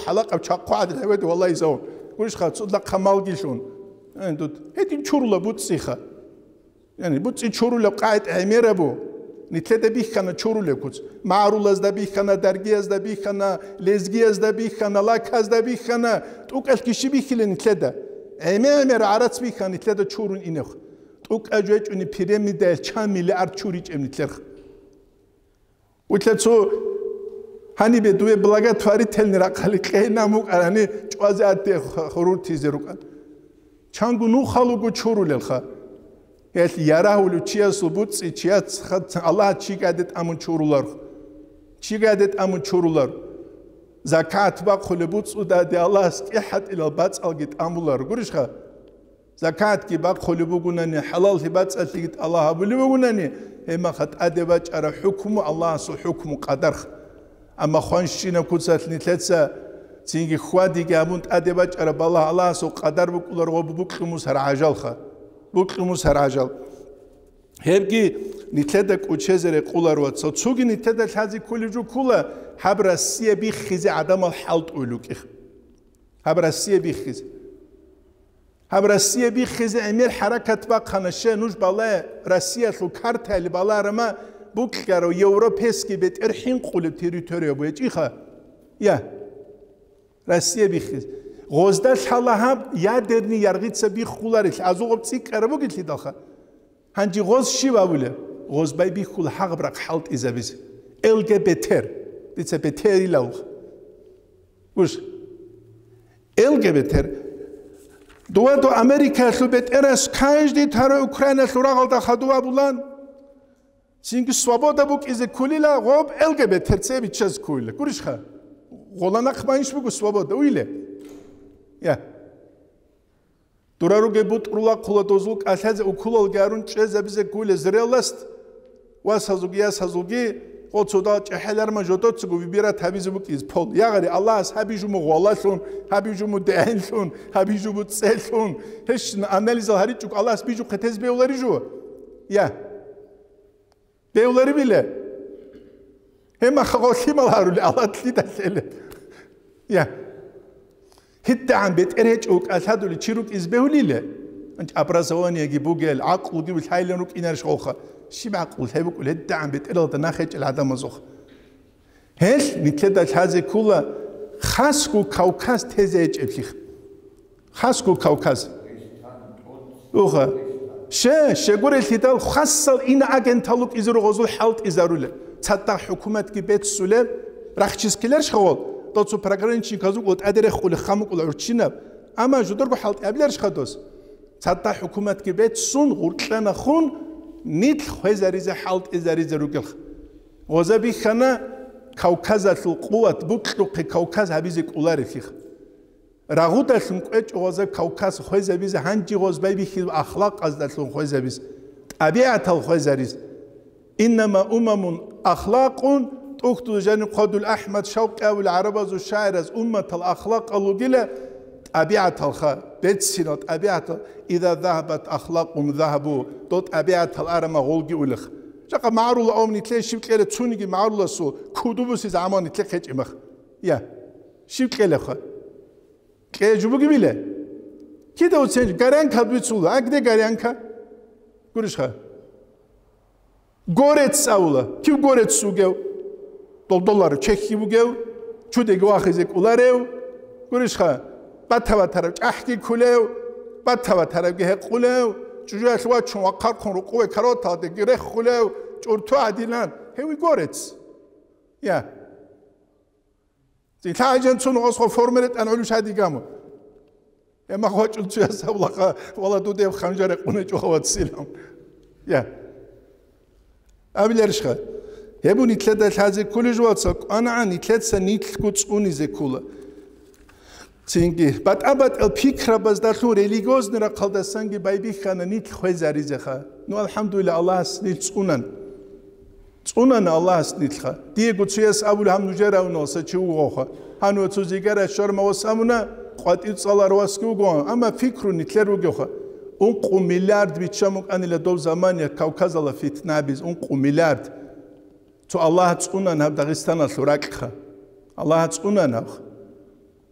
хӀалакъаб чахъу гӀадин гьаведа, валлагь, изавун. Гурищха, цо лахъа малги лъун. Гьедин чурула буцӀцӀиха. Яни, буцӀцӀи чурулеб къагӀид гӀемерабу. Нилъеда бихьана чурулеб куц. МагӀарулазда бихьана, даргиязда бихьана, лезгиязда бихьана, лаказда бихьана, тӀукӀалъги щиб бихьила нилъеда? ГӀеме-гӀемер гӀарац бихьана нилъеда чурун инехъ. ТӀукӀа жечӀуни пирамидаял чан миллиард чуричӀеб нилъерха. Улъа цо гьанибе дуе благотворительный рахъали кьейна мукӀарани чӀвазе атте хуруртизе рукӀан. Чанго нухалуго чурулелха. Гьелъ ярагьулев чиясул буцӀцӀи чияц ха-, Аллагь чигайде тӀамун чурулар. Чигайде тӀамун чурулар. Закат бахъулеб буцӀцӀудаде Аллагьас кӀихӀатӀилал бацӀалги тӀамулар. Гурищха? Закатги бахъулеб бугунани, хӀалаллъи бацӀалъиги тӀалаб гьабулеб бугунани, гьеб мехалъ тӀаде бачӀараб хӀукму Аллагьасул хӀукму къадарх. Амма хванщинаб куцалъ нилъеца цинги хьвадиги гьабун тӀаде бачӀараб балагь Аллагьасул къадар букӀулар ва букьумусар гӀажалха. Букьумусар гӀажал. Гьебги нилъеда кӀучезе рекъолар ва цо-, цоги нилъеда лъазе кколеб жо ккола, гьаб Россия биххизе гӀадамал хӀалтӀуй лукӀих. Гьаб Россия биххизе. Гьаб Россия биххизе гӀемер хӀаракат бахъана, ще нуж балай, Россиялъул картайли баларама, букьарав европейский бетӀер хӀинкъулеб территория бугьечӀиха. Я. Россия биххизе. Гъозда лъала гьаб ядерный яргъица биххуларел, азугъаб цӀикӀкӀараб бугелъидалха. Гьанже гъоз щив абулеб? Гъоз байбихьула гьагъаб рахъ хӀалтӀизабизе. Л Г Б Т-р. Дица Б Т-р илавха. Гуш. Л Г Б Т-р. Дова до Америкаялъул бетӀерас каждый тарой Украиналъул рагъалда хадув абулан. Цинги свобода букӀизе ккулила, гъоб Л Г Б Т-р цебе биччазе ккулила. Гурищха? Гъола нахъ манищ буго свобода, уйиле? Я. Дура ругеб бутӀрула хъула дозул кӀалъазе укулалги арун чӀезабизе ккуле зрелость, васазулги ясазулги, гъо цодал чӀехӀеларма жодоцаго выбирать гьабизе букӀиз пол. Ягъари Аллагьас гьабижу мугъвалалъун, гьабижу мудегӀенлъун, гьабижу буцӀцӀелъун. Гьещина анализал гьаричӀого Аллагьас бижухъе тез бевларижу? Я. Бевларибила? Гьемаха гъолъимал гьарули, Аллагь лъидалъе? Я. ГьитӀагӀан бетӀер гьечӀо кӀалъадули чи рукӀиз бегьулила? Анч образованиеги бугел, гӀакълуги лъайлан рукӀинарищ гъолха? Щиб гӀакълу лъай букӀул гьитӀагӀан бетӀералда нах гьечӀел гӀадамазухъ? Гьелъ нилъеда лъазе ккула хасго Кавказ тезе гьечӀеблъи. Хасго Кавказ. Уха. Ще, щегурелъидал хасал иноагентал рукӀизе ругъозул хӀалтӀизарула. Цадахъ хӀукуматги беццулеб, рахчис ккеларищ гъол, доцу пограничниказул тӀаде рехули хамукӀула гӀурччинаб. Амма жударго хӀалтӀи абиларищха дос? Цадахъ хӀукуматги беццун, гъуркьанахун, нилъ хвезаризе хӀалтӀизаризе ругелха. Гъоза бихьана Кавказалъул къуват букьухъе Кавказ гьабизе кӀоларелъиха. Рагъудалъун кӀвечӀо гъоза Кавказ хвезабизе, гьанже гъоз байбихьизаб ахлакъаздалъун хвезабиз, тӀабигӀатал хвезарис. Иннама умамун ахлакъун, тӀухьдул жаниб хъодул АхӀмад Шавкъи абулел гӀарабазул шагӀираз, умматал ахлакъал ругила тӀабигӀаталха, берцинал тӀабигӀатал, иза загьабат ахлакъум загьабу, дол тӀабигӀатал арама гъолги улех. Жакъа магӀрула авни кье щиб кьела цуниги магӀруласул кудубуси заман кье хъечӀимах. Я, щиб кьелаха? Кье жубуги биле? Кида уцен горянка бицула, а где горянка? Гурищха? Горец авула. Кив горец вугев? Долдолар чехьи вугев? Чудеги вахизе кӀуларев? Гурищха? Батаватарав чӀахӀги ккулев? Батаватаравги гьекъулев? ЧӀужуялъ вачун вахъархъун рукъуве кароталдеги реххулев? ЧӀурту гӀадилан. Гьев горец. Я. Цин лъагӀажан цун гъосго форма ретӀан гӀолу шадигамо. Гьема гъочӀун цуяс абулаха, вала дудеб ханжар рекъуначӀо вацилан. Я. Абиларищха? Гьеб нилъеда лъазе кколей жо, вацал, кӀванагӀан нилъеца нилъго цӀунизе ккола. Цинги, батӀа-батӀал пикрабаздалъун религиозный рахъалдасанги байбихьана нилъ хвезаризеха. Ну, алхӀамдулилла, Аллагьас нилъ цӀунан. ЦӀунана Аллагьас нилъха. Диего цуяс абули гьаб нужер авуналса чи вугоха. Гьанив цо зигара щварма вас абуна, къватӀив цӀалар васги вугоан, амма пикру нилъер вугевха. Ункъу миллиард биччан букӀанила дов замания Кавказала фитнабиз, ункъу миллиард. Цо Аллагь цӀунан гьаб Дагъистаналъул ракьха. Аллагь цӀунан гьабха.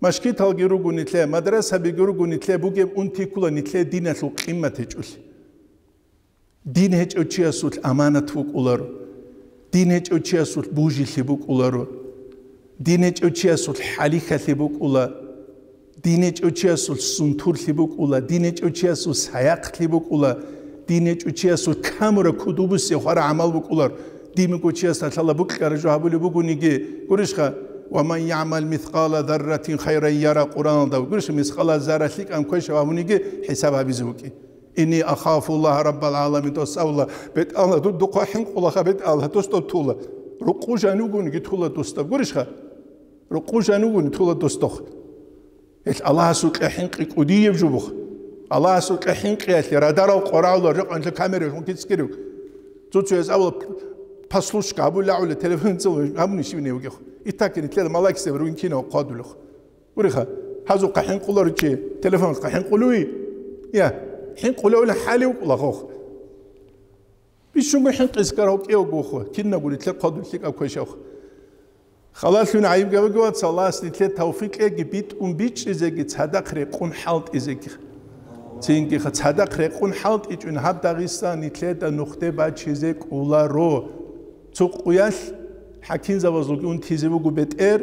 Машгиталги руго нилъе, мадрасабиги руго нилъе, бугеб унти ккула нилъе диналъул къимат гьечӀолъи. Дин гьечӀев чиясулъ аманат букӀуларо. Дин гьечӀев чиясулъ бужилъи букӀуларо. Дин гьечӀев чиясулъ хӀалихьалъи букӀула. Дин гьечӀев чиясулъ сунтурлъи букӀула. Дин гьечӀев чиясулъ саяхълъи букӀула. Дин гьечӀев чиясулъ камура кудубусе хвара гӀамал букӀулар. Дин буго чиясда лъала букьара жо гьабулеб бугониги, гурищха, «Ва ман ягӀмал мискъала зарратин хайран яра» Къуръаналда, гурищха, мискъала зарра лъикӀан квешав гьабуниги хӀисаб гьабизе букӀи. «Инни ахафу Аллагь раббал гӀаламин», дос абула, БетӀалла, ду-, духъа хӀинкъулаха, БетӀалла, дос доб тула. Рукъу жанивгуниги тула дос доб. Гурищха? Рукъу жанивгуни тула дос дох. Гьелъ Аллагьасул кье хӀинкъи кӀудияб жубух. Аллагьасул кье хӀинкъиялъе радарал къорагӀула, рекъонлъа камералъун кицӀкӀирив. Цо-цояз абула, послушка, абула, гӀула, телефон цо гьабуни щивне вугехъ. Итакин, итлъела малакисеб ругин кинав хъвадулехъ. Гуриха, гьазухъа хӀинкъулару чи, телефонха хӀинкъулуй? Я, хӀинкъулевли хӀали вукӀула хох. Бищунго хӀинкъис карав кӀевгохъо, кинабго нитлъер хъвадулъи кӀаквешавха. Халалъун гӀайиб габаги вац, Аллагьас нитлъе тавфикъ кьеги, битӀун бичӀчӀизеги, цадахъ рекъун хӀалтӀизеги. Цинги цадахъ рекъун хӀалтӀичӀун гьаб Дагъистан нилъеда нухде бачизе кӀоларо. Цо къуялъ хӀакимзабазулги унтизе буго бетӀер,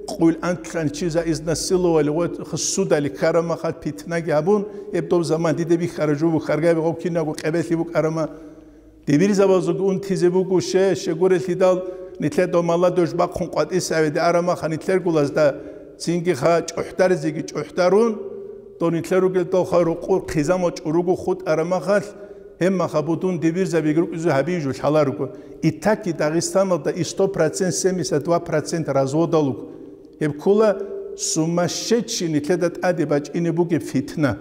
къуйл антлъан чи за изнасиловали ва судали ккарамахал питнаги гьабун, гьеб доб заман диде бихьара жо буго, хъаргъаби гъов кинаго къебелъи букӀарама. Дибирзабазулги унтизе буго ще, щегурелъидал нилъер дов молодёжь бахъун къватӀисавиде арамаха нилъер гулазда, цинги ха чӀухӀдаризеги чӀухӀдарун, дов нилъер ругел довха рукъур хъизамал чӀуруго хутӀарамахалъ, гьебмаха будун дибирзабиги рукӀизе гьабизе жо лъаларого. Итаки Дагъистаналда и сто процент, семьдесят два процент разводал руго. Гьеб ккола сумасшедший нилъеда тӀаде бачӀине бугеб фитна.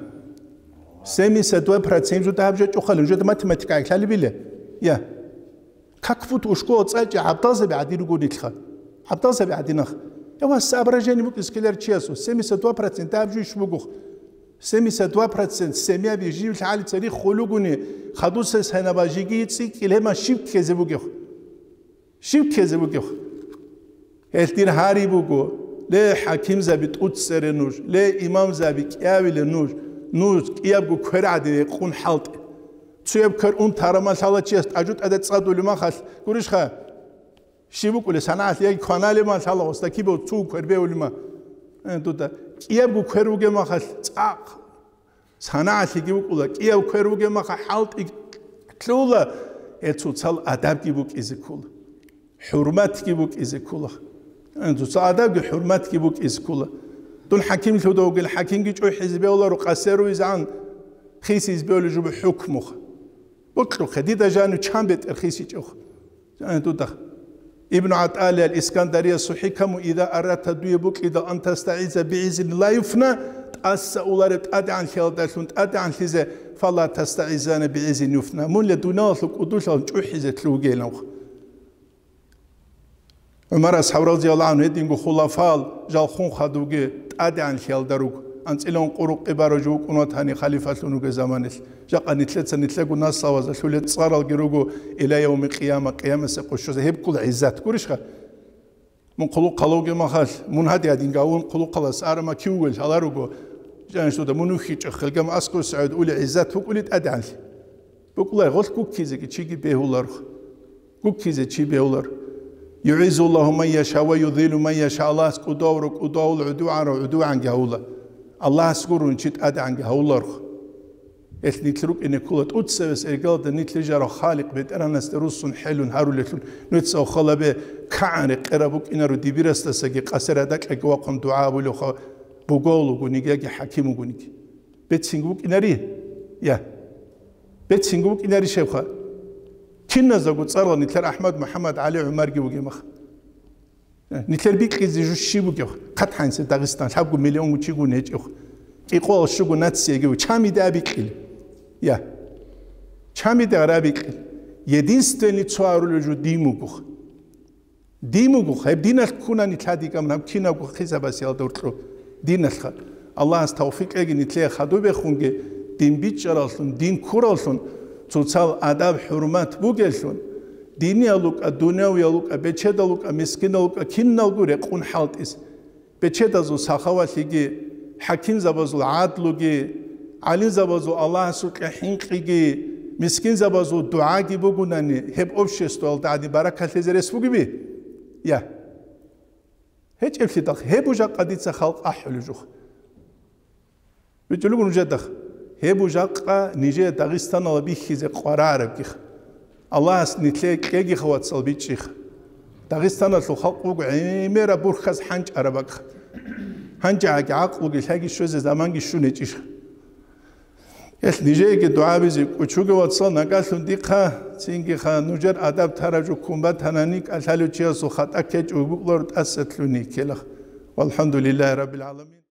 Семьдесят два процент жо дагьаб жо чӀухъали, нужеда математика гӀехьалебила. Я. Как будто ушкола цӀачӀи гӀабдалзаби гӀадин руго нилъха. ГӀабдалзаби гӀадинах. Я ва соображение букӀиз ккелар чиясул. Семьдесят два процент дагьаб жо иш бугох. Семьдесят два процент семьяби жив лъалица риххулугуни, хадусес гьанаба жиги цӀикӀкӀил гьема щиб ккезе бугех. Щиб ккезе бугев? Гьелъ дир гьари буго, ле, хӀакимзаби тӀуцере нуж, ле, имамзаби кӀиявиле нуж, нуж кӀиябго квер гӀадин рекъун хӀалтӀе. Цуяб квер ун тарамал лъала чияс тӀажу тӀаде цӀадулемахалъ, гурищха? Щиб букӀулеб санагӀалъ яги кваналеб ман лъала гъосда кибав цо квер бевулема? Э, дуда. КӀиябго квер вугеб махалъ цӀакъ. СанагӀалъиги вукӀула, кӀияв квер вугеб маха хӀалтӀи лъула, гьел цоцал адабги букӀизе ккола, хӀурматги букӀизе ккола. Цоцал адабги хӀурматги букӀизе ккола. Дун хӀакимлъуда вугел, хӀакимги чӀухӀизе бевларо, къасеру изгӀан хисизе бевли жубу хӀукмуха. Бокьухъе, дида жанив чан бетӀер хисичӀев? Дуда. Ибну ГӀатӀалиял Искандариясул хӀикаму: «Иза аратта», дуе букӀидал, «ан тастагӀиза бигӀизин ла юфна», тӀаса улареб тӀадегӀанлъиялдалъун тӀадегӀанлъизе, «фала тастагӀизана бигӀизин юфна», мунля дуниялалъул кӀудулъалъун чӀухӀизе лъугьунилан. ГӀумар асхӀаб, разияллагьу гӀангьу, гьединго хулафал жалхун хадуги тӀадегӀанлъиялда руго. АнцӀила ункъо рукъи барав жо вукӀун ватани халифалъун вугеб заманалъ. Жакъа нилъеца нилъего наслабазда лъулел цӀаралги руго, иля явмил къияма, къиямасеб къо щвезе гьеб ккола гӀиззат, гурищха? Мун хъулухъ гьалавги махалъ, мун гьадин-гьадин гавун хъулухъалас арама кив вугел гьаларуго, жанишдуда мун вихьичӀо, хелгам аскӀов сагӀид ули гӀиззат букӀули тӀадегӀанлъи. БукӀулай гъолъ гуккизеги чиги бегьуларх. Гуккизе чи бегьулар. «ЮгӀиззуллагьу ман яша ва юзиллу ман яша», Аллагьас кӀудавра кӀудавул, гӀудугӀанра гӀудугӀанги гьавула. Аллагьас гурун чи тӀадегӀанги гьавуларх. Гьелъ нилъ рукӀине ккола тӀуцевес эргалда нилъ рижарав Халикъ БетӀергьанасде руссун хӀелун гьарулелъул, нуца халабе кагӀан рекъераб букӀинаро дибирасдасаги къасер гьадакьаги вахъун дугӀа абулевха бугов вугониги яги хӀаким вугониги. Бецинги букӀинари? Я. Бецинги букӀинари щебха? Киназдаго цӀарла нилъер АхӀмад, МухӀаммад, ГӀали, ГӀумарги бугеб мах. Нилъер бикьизе жо щиб бугеб? Хъат гьансе Дагъистан лъабго миллион гучигун гьечӀеб. КӀикъоялъ щуго нацияги чамида абикьил. Я. Чамида гьарабикьил. Единственный цо гьарулев жо дин бугох. Дин буго, гьеб диналъ ккунани лъадикӀамун гьаб кинабго хисабасиялда гьоркьо диналъха. Аллагьас тавфикъ кьеги нилъее хадубехунги дин бичӀчӀараллъун, дин ккураллъун, цоцал адаб-хӀурмат бугеллъун, диниялукӀа, дунявиялукӀа, бечедалукӀа, мискиналукӀа киналго рекъун хӀалтӀис. Бечедазул сахавалъиги, хӀакимзабазул гӀадлуги, гӀалимзабазул Аллагьасукьа хӀинкъиги, мискинзабазул дугӀаги бугунани, гьеб обществоялда гӀадин баракалъизе рес бугеби? Я. ГьечӀеблъидахъ, гьеб жакъа дица халкъ ахӀулеб жух. БичӀулеб нужедахъ, гьеб жакъа нижее Дагъистаналда бихьизе къварарабгих. Аллагьас нилъее кьегиха, вацал, бичӀчӀиха. Дагъистаналъул халкъ вуго гӀемераб бурхьаз хӀанчӀараб бакӀ. Гьанжеги гӀакълуги лъаги щвезе заманги щун гьечӀищха? Гьелъ нижееги дугӀабизе кӀучуге, вацал, нагагьлъун дихъа, цинги ха, нужер адаб тараб жо ккун батанани, кӀалъалев чиясул хатӀа ккечӀого букӀларо тӀаса лъугьине ккелах. ВалхӀамдулиллагьи раббил гӀаламин.